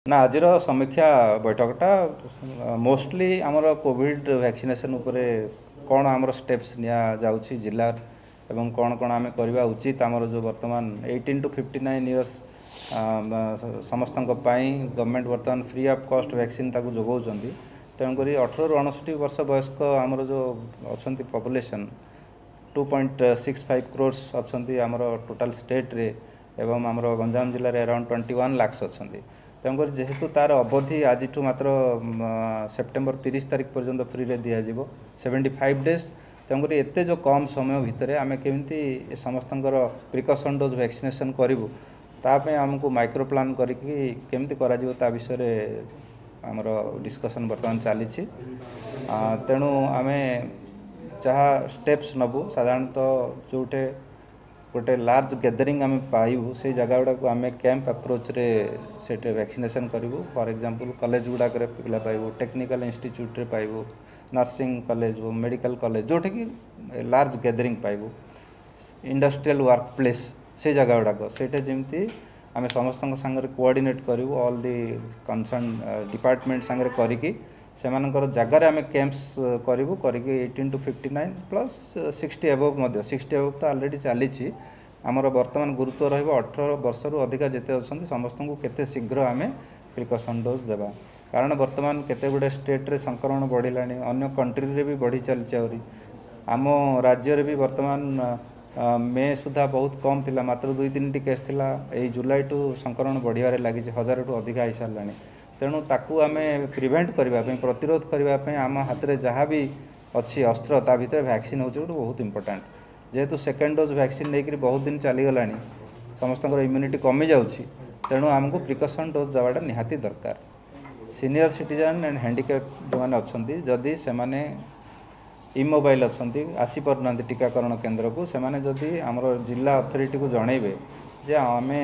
ନା, ଆଜିର ସମୀକ୍ଷା ବୈଠକଟା ମୋଷ୍ଟଲି ଆମର କୋଭିଡ଼ ଭ୍ୟାକ୍ସିନେସନ୍ ଉପରେ, କ'ଣ ଆମର ଷ୍ଟେପ୍ସ ନିଆଯାଉଛି ଜିଲ୍ଲା ଏବଂ କ'ଣ କ'ଣ ଆମେ କରିବା ଉଚିତ। ଆମର ଯେଉଁ ବର୍ତ୍ତମାନ 18 ଟୁ 59 ଇୟର୍ସ ସମସ୍ତଙ୍କ ପାଇଁ ଗଭର୍ଣ୍ଣମେଣ୍ଟ ବର୍ତ୍ତମାନ ଫ୍ରି ଅଫ୍ କଷ୍ଟ ଭ୍ୟାକ୍ସିନ୍ ତାକୁ ଯୋଗାଉଛନ୍ତି। ତେଣୁକରି 18ରୁ 59 ବର୍ଷ ବୟସ୍କ ଆମର ଯେଉଁ ଅଛନ୍ତି ପପୁଲେସନ୍, 2.65 କ୍ରୋର୍ସ ଅଛନ୍ତି ଆମର ଟୋଟାଲ୍ ଷ୍ଟେଟ୍ରେ ଏବଂ ଆମର ଗଞ୍ଜାମ ଜିଲ୍ଲାରେ ଆରାଉଣ୍ଡ 21 ଲାକ୍ସ ଅଛନ୍ତି। ତେଣୁକରି ଯେହେତୁ ତା'ର ଅବଧି ଆଜିଠୁ ମାତ୍ର ସେପ୍ଟେମ୍ବର 30 ତାରିଖ ପର୍ଯ୍ୟନ୍ତ ଫ୍ରିରେ ଦିଆଯିବ, 75 ଡେଜ୍। ତେଣୁକରି ଏତେ ଯେଉଁ କମ୍ ସମୟ ଭିତରେ ଆମେ କେମିତି ସମସ୍ତଙ୍କର ପ୍ରିକସନ୍ ଡୋଜ୍ ଭ୍ୟାକ୍ସିନେସନ୍ କରିବୁ, ତା ପାଇଁ ଆମକୁ ମାଇକ୍ରୋ ପ୍ଲାନ୍ କରିକି କେମିତି କରାଯିବ ତା ବିଷୟରେ ଆମର ଡିସ୍କସନ୍ ବର୍ତ୍ତମାନ ଚାଲିଛି। ତେଣୁ ଆମେ ଯାହା ଷ୍ଟେପ୍ସ ନେବୁ, ସାଧାରଣତଃ ଯେଉଁଠି ଗୋଟେ ଲାର୍ଜ ଗ୍ୟାଦରିଂ ଆମେ ପାଇବୁ, ସେଇ ଜାଗା ଗୁଡ଼ାକୁ ଆମେ କ୍ୟାମ୍ପ ଆପ୍ରୋଚରେ ସେଠି ଭ୍ୟାକ୍ସିନେସନ୍ କରିବୁ। ଫର୍ ଏକ୍ଜାମ୍ପଲ୍, କଲେଜ ଗୁଡ଼ାକରେ ପିଲା ପାଇବୁ, ଟେକ୍ନିକାଲ ଇନଷ୍ଟିଚ୍ୟୁଟ୍ରେ ପାଇବୁ, ନର୍ସିଂ କଲେଜ ହଉ, ମେଡ଼ିକାଲ କଲେଜ, ଯେଉଁଠିକି ଲାର୍ଜ ଗ୍ୟାଦରିଂ ପାଇବୁ, ଇଣ୍ଡଷ୍ଟ୍ରିଆଲ ୱାର୍କ ପ୍ଲେସ୍, ସେଇ ଜାଗା ଗୁଡ଼ାକ ସେଇଟା ଯେମିତି ଆମେ ସମସ୍ତଙ୍କ ସାଙ୍ଗରେ କୋଅର୍ଡ଼ିନେଟ୍ କରିବୁ, ଅଲ୍ the concern department ସାଙ୍ଗରେ କରିକି ସେମାନଙ୍କର ଜାଗାରେ ଆମେ କ୍ୟାମ୍ପସ୍ କରିବୁ। କରିକି 18 ଟୁ 59 ପ୍ଲସ୍ 60 ଏବଭ୍ ମଧ୍ୟ, 60 ଏବଭ୍ ତ ଅଲରେଡ଼ି ଚାଲିଛି। ଆମର ବର୍ତ୍ତମାନ ଗୁରୁତ୍ୱ ରହିବ 18 ବର୍ଷରୁ ଅଧିକା ଯେତେ ଅଛନ୍ତି ସମସ୍ତଙ୍କୁ କେତେ ଶୀଘ୍ର ଆମେ ପ୍ରିକସନ୍ ଡୋଜ୍ ଦେବା। କାରଣ ବର୍ତ୍ତମାନ କେତେ ଗୁଡ଼ିଏ ଷ୍ଟେଟ୍ରେ ସଂକ୍ରମଣ ବଢ଼ିଲାଣି, ଅନ୍ୟ କଣ୍ଟ୍ରିରେ ବି ବଢ଼ି ଚାଲିଛି। ଆହୁରି ଆମ ରାଜ୍ୟରେ ବି ବର୍ତ୍ତମାନ ମେ ସୁଦ୍ଧା ବହୁତ କମ୍ ଥିଲା, ମାତ୍ର 2 3ଟି କେସ୍ ଥିଲା। ଏଇ ଜୁଲାଇଠୁ ସଂକ୍ରମଣ ବଢ଼ିବାରେ ଲାଗିଛି, 1000ଠୁ ଅଧିକା ହେଇସାରିଲାଣି। ତେଣୁ ତାକୁ ଆମେ ପ୍ରିଭେଣ୍ଟ କରିବା ପାଇଁ, ପ୍ରତିରୋଧ କରିବା ପାଇଁ ଆମ ହାତରେ ଯାହା ବି ଅଛି ଅସ୍ତ୍ର, ତା ଭିତରେ ଭ୍ୟାକ୍ସିନ୍ ହେଉଛି ଗୋଟେ ବହୁତ ଇମ୍ପୋର୍ଟାଣ୍ଟ। ଯେହେତୁ ସେକେଣ୍ଡ ଡୋଜ୍ ଭ୍ୟାକ୍ସିନ୍ ନେଇକରି ବହୁତ ଦିନ ଚାଲିଗଲାଣି, ସମସ୍ତଙ୍କର ଇମ୍ୟୁନିଟି କମିଯାଉଛି, ତେଣୁ ଆମକୁ ପ୍ରିକସନ୍ ଡୋଜ୍ ଦେବାଟା ନିହାତି ଦରକାର। ସିନିୟର ସିଟିଜେନ୍ ଆଣ୍ଡ ହ୍ୟାଣ୍ଡିକ୍ୟାପ୍ ଯେଉଁମାନେ ଅଛନ୍ତି, ଯଦି ସେମାନେ ଇମୋବାଇଲ୍ ଅଛନ୍ତି, ଆସିପାରୁନାହାନ୍ତି ଟୀକାକରଣ କେନ୍ଦ୍ରକୁ, ସେମାନେ ଯଦି ଆମର ଜିଲ୍ଲା ଅଥରିଟିକୁ ଜଣେଇବେ ଯେ ଆମେ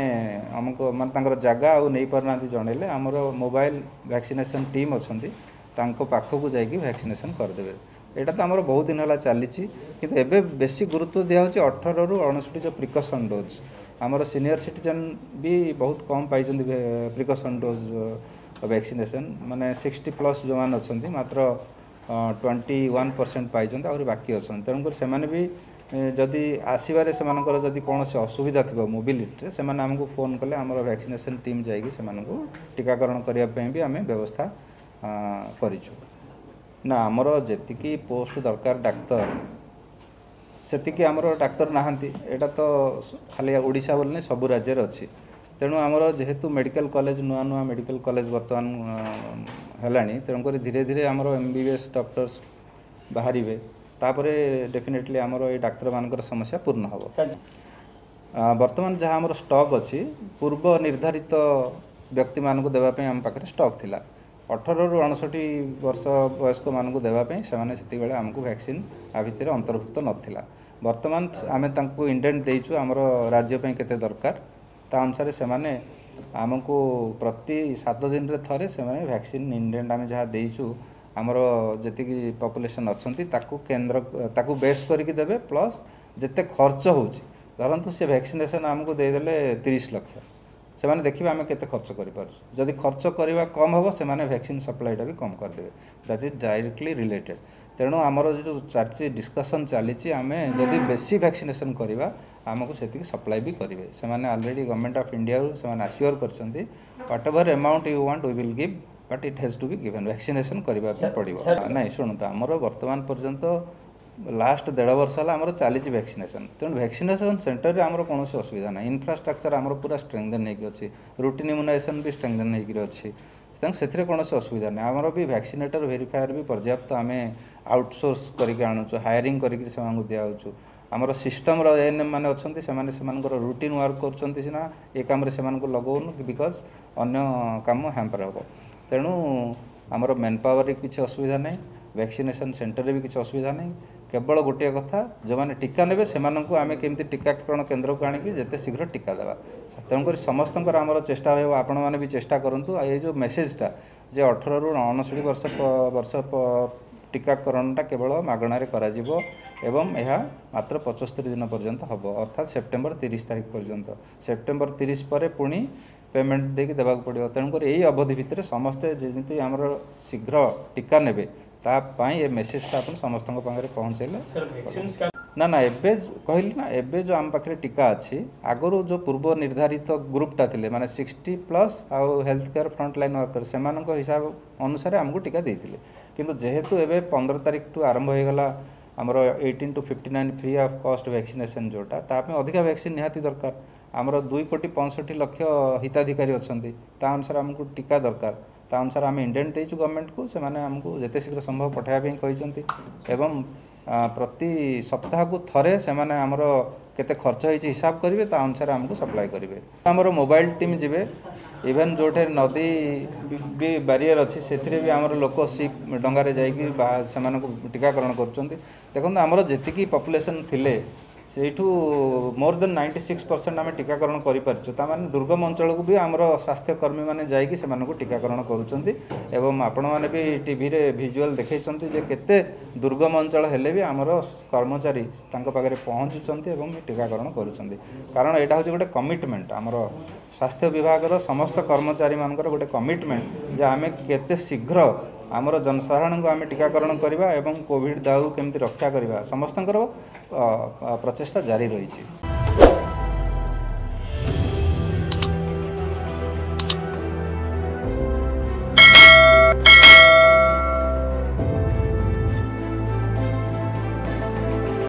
ଆମକୁ, ମାନେ ତାଙ୍କର ଜାଗା ଆଉ ନେଇପାରୁନାହାନ୍ତି ଜଣେଇଲେ, ଆମର ମୋବାଇଲ ଭ୍ୟାକ୍ସିନେସନ୍ ଟିମ୍ ଅଛନ୍ତି, ତାଙ୍କ ପାଖକୁ ଯାଇକି ଭ୍ୟାକ୍ସିନେସନ୍ କରିଦେବେ। ଏଇଟା ତ ଆମର ବହୁତ ଦିନ ହେଲା ଚାଲିଛି, କିନ୍ତୁ ଏବେ ବେଶୀ ଗୁରୁତ୍ୱ ଦିଆହେଉଛି 18ରୁ 59 ଯେଉଁ ପ୍ରିକସନ୍ ଡୋଜ୍। ଆମର ସିନିୟର ସିଟିଜେନ୍ ବି ବହୁତ କମ୍ ପାଇଛନ୍ତି ପ୍ରିକସନ୍ ଡୋଜ୍ ଭ୍ୟାକ୍ସିନେସନ୍, ମାନେ 60 ପ୍ଲସ୍ ଯେଉଁମାନେ ଅଛନ୍ତି ମାତ୍ର 21% ପାଇଛନ୍ତି, ଆହୁରି ବାକି ଅଛନ୍ତି। ତେଣୁକରି ସେମାନେ ବି ଯଦି ଆସିବାରେ ସେମାନଙ୍କର ଯଦି କୌଣସି ଅସୁବିଧା ଥିବ ମୋବିଲିଟିରେ, ସେମାନେ ଆମକୁ ଫୋନ୍ କଲେ ଆମର ଭ୍ୟାକ୍ସିନେସନ୍ ଟିମ୍ ଯାଇକି ସେମାନଙ୍କୁ ଟୀକାକରଣ କରିବା ପାଇଁ ବି ଆମେ ବ୍ୟବସ୍ଥା କରିଛୁ। ନା, ଆମର ଯେତିକି ପୋଷ୍ଟ ଦରକାର ଡାକ୍ତର, ସେତିକି ଆମର ଡାକ୍ତର ନାହାନ୍ତି। ଏଇଟା ତ ଖାଲି ଓଡ଼ିଶା ବୋଲି ନାହିଁ, ସବୁ ରାଜ୍ୟରେ ଅଛି। ତେଣୁ ଆମର ଯେହେତୁ ମେଡ଼ିକାଲ କଲେଜ, ନୂଆ ନୂଆ ମେଡ଼ିକାଲ କଲେଜ ବର୍ତ୍ତମାନ ହେଲାଣି, ତେଣୁକରି ଧୀରେ ଧୀରେ ଆମର MBBS doctors ବାହାରିବେ। ତାପରେ ଡେଫିନେଟଲି ଆମର ଏଇ ଡାକ୍ତରମାନଙ୍କର ସମସ୍ୟା ପୂର୍ଣ୍ଣ ହେବ। ବର୍ତ୍ତମାନ ଯାହା ଆମର ଷ୍ଟକ୍ ଅଛି, ପୂର୍ବ ନିର୍ଦ୍ଧାରିତ ବ୍ୟକ୍ତିମାନଙ୍କୁ ଦେବା ପାଇଁ ଆମ ପାଖରେ ଷ୍ଟକ୍ ଥିଲା। 18ରୁ 59 ବର୍ଷ ବୟସ୍କମାନଙ୍କୁ ଦେବା ପାଇଁ ସେମାନେ ସେତିକିବେଳେ ଆମକୁ ଭ୍ୟାକ୍ସିନ୍ ଆ ଭିତରେ ଅନ୍ତର୍ଭୁକ୍ତ ନଥିଲା। ବର୍ତ୍ତମାନ ଆମେ ତାଙ୍କୁ ଇଣ୍ଡେଣ୍ଟ ଦେଇଛୁ ଆମର ରାଜ୍ୟ ପାଇଁ କେତେ ଦରକାର, ତା ଅନୁସାରେ ସେମାନେ ଆମକୁ ପ୍ରତି 7 ଦିନରେ ଥରେ ସେମାନେ ଭ୍ୟାକ୍ସିନ୍ ଇଣ୍ଡେଣ୍ଟ ଆମେ ଯାହା ଦେଇଛୁ, ଆମର ଯେତିକି ପପୁଲେସନ୍ ଅଛନ୍ତି ତାକୁ କେନ୍ଦ୍ର ତାକୁ ବେସ୍ କରିକି ଦେବେ। ପ୍ଲସ୍ ଯେତେ ଖର୍ଚ୍ଚ ହେଉଛି, ଧରନ୍ତୁ ସେ ଭ୍ୟାକ୍ସିନେସନ୍ ଆମକୁ ଦେଇଦେଲେ 30 ଲକ୍ଷ, ସେମାନେ ଦେଖିବେ ଆମେ କେତେ ଖର୍ଚ୍ଚ କରିପାରୁଛୁ। ଯଦି ଖର୍ଚ୍ଚ କରିବା କମ୍ ହେବ, ସେମାନେ ଭ୍ୟାକ୍ସିନ୍ ସପ୍ଲାଇଟା ବି କମ୍ କରିଦେବେ। That is directly related. ତେଣୁ ଆମର ଯେଉଁ ଚାଲିଛି, ଡିସ୍କସନ୍ ଚାଲିଛି, ଆମେ ଯଦି ବେଶୀ ଭ୍ୟାକ୍ସିନେସନ୍ କରିବା ଆମକୁ ସେତିକି ସପ୍ଲାଏ ବି କରିବେ ସେମାନେ। ଅଲରେଡ଼ି ଗଭର୍ଣ୍ଣମେଣ୍ଟ ଅଫ୍ ଇଣ୍ଡିଆରୁ ସେମାନେ ଆସିଓର କରିଛନ୍ତି, whatever amount you want, we will give, but it has to be given, vaccination କରିବା ପାଇଁ ପଡ଼ିବ। ନାଇଁ, ଶୁଣନ୍ତୁ, ଆମର ବର୍ତ୍ତମାନ ପର୍ଯ୍ୟନ୍ତ ଲାଷ୍ଟ ଦେଢ଼ ବର୍ଷ ହେଲା ଆମର ଚାଲିଛି ଭ୍ୟାକ୍ସିନେସନ୍। ତେଣୁ ଭ୍ୟାକ୍ସିନେସନ୍ ସେଣ୍ଟରରେ ଆମର କୌଣସି ଅସୁବିଧା ନାହିଁ। ଇନଫ୍ରାଷ୍ଟ୍ରକ୍ଚର ଆମର ପୁରା ଷ୍ଟ୍ରେଙ୍ଗଦେନ୍ ହେଇକି ଅଛି, ରୁଟିନ୍ ଇମ୍ୟୁନାଇଜେସନ୍ ବି ଷ୍ଟ୍ରେଙ୍ଗଦେନ୍ ହେଇକିରି ଅଛି। ତେଣୁ ସେଥିରେ କୌଣସି ଅସୁବିଧା ନାହିଁ। ଆମର ବି ଭ୍ୟାକ୍ସିନେଟର ଭେରିଫାୟର ବି ପର୍ଯ୍ୟାପ୍ତ, ଆମେ ଆଉଟସୋର୍ସ କରିକି ଆଣୁଛୁ, ହାୟରିଂ କରିକି ସେମାନଙ୍କୁ ଦିଆହେଉଛୁ। ଆମର ସିଷ୍ଟମର ଏଏନ୍ଏମ୍ ମାନେ ଅଛନ୍ତି, ସେମାନେ ସେମାନଙ୍କର ରୁଟିନ୍ ୱାର୍କ କରୁଛନ୍ତି ସିନା, ଏ କାମରେ ସେମାନଙ୍କୁ ଲଗାଉନୁ, because ଅନ୍ୟ କାମ ହ୍ୟାମ୍ପର ହେବ। ତେଣୁ ଆମର ମ୍ୟାନ୍ ପାୱାରରେ କିଛି ଅସୁବିଧା ନାହିଁ, ଭ୍ୟାକ୍ସିନେସନ୍ ସେଣ୍ଟରରେ ବି କିଛି ଅସୁବିଧା ନାହିଁ। କେବଳ ଗୋଟିଏ କଥା, ଯେଉଁମାନେ ଟୀକା ନେବେ ସେମାନଙ୍କୁ ଆମେ କେମିତି ଟୀକାକରଣ କେନ୍ଦ୍ରକୁ ଆଣିକି ଯେତେ ଶୀଘ୍ର ଟୀକା ଦେବା। ତେଣୁକରି ସମସ୍ତଙ୍କର ଆମର ଚେଷ୍ଟା ରହିବ, ଆପଣମାନେ ବି ଚେଷ୍ଟା କରନ୍ତୁ। ଆଉ ଏଇ ଯେଉଁ ମେସେଜଟା ଯେ 18ରୁ 59 ବର୍ଷ ଟୀକାକରଣଟା କେବଳ ମାଗଣାରେ କରାଯିବ ଏବଂ ଏହା ମାତ୍ର 75 ଦିନ ପର୍ଯ୍ୟନ୍ତ ହେବ, ଅର୍ଥାତ୍ ସେପ୍ଟେମ୍ବର 30 ତାରିଖ ପର୍ଯ୍ୟନ୍ତ। ସେପ୍ଟେମ୍ବର 30 ପରେ ପୁଣି ପେମେଣ୍ଟ ଦେଇକି ଦେବାକୁ ପଡ଼ିବ। ତେଣୁକରି ଏଇ ଅବଧି ଭିତରେ ସମସ୍ତେ ଯେମିତି ଆମର ଶୀଘ୍ର ଟୀକା ନେବେ, ତା ପାଇଁ ଏ ମେସେଜଟା ଆପଣ ସମସ୍ତଙ୍କ ପାଖରେ ପହଞ୍ଚାଇଲେ। ନା ନା, ଏବେ କହିଲି ନା, ଏବେ ଯେଉଁ ଆମ ପାଖରେ ଟୀକା ଅଛି, ଆଗରୁ ଯେଉଁ ପୂର୍ବ ନିର୍ଦ୍ଧାରିତ ଗ୍ରୁପଟା ଥିଲେ, ମାନେ 60+ ଆଉ health care front line worker, ସେମାନଙ୍କ ହିସାବ ଅନୁସାରେ ଆମକୁ ଟୀକା ଦେଇଥିଲେ। କିନ୍ତୁ ଯେହେତୁ ଏବେ 15 ତାରିଖଠୁ ଆରମ୍ଭ ହୋଇଗଲା ଆମର 18 ଟୁ 59 ଫ୍ରି ଅଫ୍ କଷ୍ଟ ଭ୍ୟାକ୍ସିନେସନ୍ ଯେଉଁଟା, ତା ପାଇଁ ଅଧିକା ଭ୍ୟାକ୍ସିନ୍ ନିହାତି ଦରକାର। ଆମର 2 କୋଟି 65 ଲକ୍ଷ ହିତାଧିକାରୀ ଅଛନ୍ତି, ତା ଅନୁସାରେ ଆମକୁ ଟୀକା ଦରକାର। ତା ଅନୁସାରେ ଆମେ ଇଣ୍ଡେଣ୍ଟ ଦେଇଛୁ ଗଭର୍ଣ୍ଣମେଣ୍ଟକୁ, ସେମାନେ ଆମକୁ ଯେତେ ଶୀଘ୍ର ସମ୍ଭବ ପଠାଇବା ପାଇଁ କହିଛନ୍ତି ଏବଂ ପ୍ରତି ସପ୍ତାହକୁ ଥରେ ସେମାନେ ଆମର କେତେ ଖର୍ଚ୍ଚ ହେଇଛି ହିସାବ କରିବେ, ତା ଅନୁସାରେ ଆମକୁ ସପ୍ଲାଏ କରିବେ। ଆମର ମୋବାଇଲ ଟିମ୍ ଯିବେ, ଇଭେନ୍ ଯେଉଁଠି ନଦୀ ବି ବାରିୟର ଅଛି, ସେଥିରେ ବି ଆମର ଲୋକ ସିପ୍ ଡଙ୍ଗାରେ ଯାଇକି ସେମାନଙ୍କୁ ଟୀକାକରଣ କରୁଛନ୍ତି। ଦେଖନ୍ତୁ, ଆମର ଯେତିକି ପପୁଲେସନ୍ ଥିଲେ, ସେଇଠୁ ମୋର୍ ଦେନ୍ 96% ଆମେ ଟୀକାକରଣ କରିପାରିଛୁ। ତାମାନେ ଦୁର୍ଗମ ଅଞ୍ଚଳକୁ ବି ଆମର ସ୍ୱାସ୍ଥ୍ୟକର୍ମୀମାନେ ଯାଇକି ସେମାନଙ୍କୁ ଟୀକାକରଣ କରୁଛନ୍ତି ଏବଂ ଆପଣମାନେ ବି ଟିଭିରେ ଭିଜୁଆଲ୍ ଦେଖେଇଛନ୍ତି ଯେ କେତେ ଦୁର୍ଗମ ଅଞ୍ଚଳ ହେଲେ ବି ଆମର କର୍ମଚାରୀ ତାଙ୍କ ପାଖରେ ପହଞ୍ଚୁଛନ୍ତି ଏବଂ ଟୀକାକରଣ କରୁଛନ୍ତି। କାରଣ ଏଇଟା ହେଉଛି ଗୋଟେ କମିଟମେଣ୍ଟ, ଆମର ସ୍ୱାସ୍ଥ୍ୟ ବିଭାଗର ସମସ୍ତ କର୍ମଚାରୀମାନଙ୍କର ଗୋଟେ କମିଟମେଣ୍ଟ ଯେ ଆମେ କେତେ ଶୀଘ୍ର ଆମର ଜନସାଧାରଣଙ୍କୁ ଆମେ ଟୀକାକରଣ କରିବା ଏବଂ କୋଭିଡ଼ ଦାଉରୁ କେମିତି ରକ୍ଷା କରିବା, ସମସ୍ତଙ୍କର ପ୍ରଚେଷ୍ଟା ଜାରି ରହିଛି।